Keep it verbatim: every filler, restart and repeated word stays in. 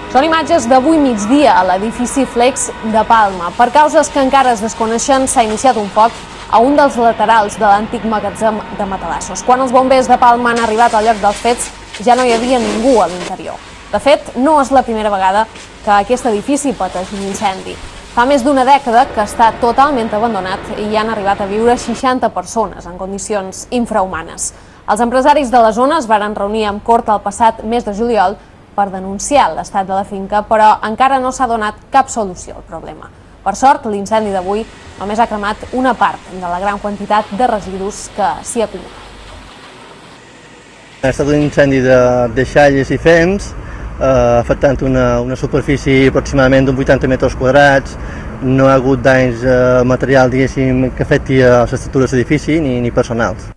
Són imatges d'avui migdia a l'edifici Flex de Palma. Per causes que encara es desconeixen, s'ha iniciat un foc a un dels laterals de l'antic magatzem de matalassos. Quan els bombers de Palma han arribat al lloc dels fets, ja no hi havia ningú a l'interior. De fet, no és la primera vegada que aquest edifici pateix un incendi. Fa més d'una dècada que està totalment abandonat i hi han arribat a viure seixanta persones en condicions infrahumanes. Els empresaris de la zona es varen reunir amb cort el passat mes de juliol per denunciar l'estat de la finca, però encara no s'ha donat cap solució al problema. Per sort, l'incendi d'avui només ha cremat una part de la gran quantitat de residus que s'hi acumulen. Ha estat un incendi de deixalles i fems, eh, afectant una, una superfície aproximadament d'uns vuitanta metres quadrats. No ha hagut danys eh, material, diguéssim, que afecti a les estructures d'edifici ni, ni personals.